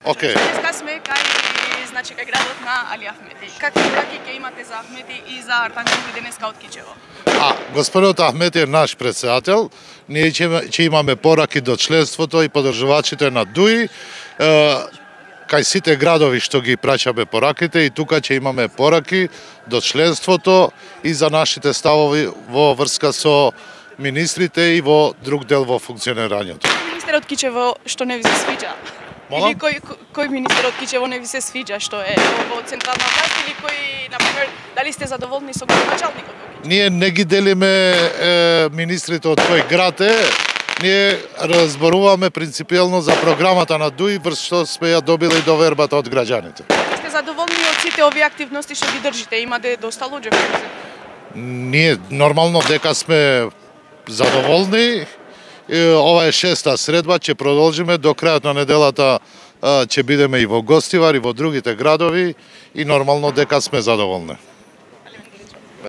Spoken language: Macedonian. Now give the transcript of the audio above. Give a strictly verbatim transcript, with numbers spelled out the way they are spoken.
Океј. Денеска сме кај, значи, кај градот на Али Ахмети. Какви пораки ќе имате за Ахмети и за Артанчевски денеска од Кичево? А, господинот Ахмети е наш председател. Ние ќе, ќе имаме пораки до членството и подржувачите на ДУИ. Е, кај сите градови што ги праќаме пораките и тука ќе имаме пораки до членството и за нашите ставови во врска со министрите и во друг дел во функционирањето. Министерот Кичево што не ви се свиѓа? Молам? Или кој, кој министер од Кичево не ви се свиѓа што е во централна власт или кој, например, дали сте задоволни со градоначалникот во Кичево? Ние не ги делиме е, министрите од кој град е, ние разборуваме принципиелно за програмата на ДУИ врз што сме ја добили довербата од граѓаните. Сте задоволни од сите овие активности што ги држите? Имате доста луѓе кои се... Ние нормално дека сме задоволни. Ова е шеста средба, ќе продолжиме до крајот на неделата, ќе бидеме и во Гостивар и во другите градови и нормално дека сме задоволни.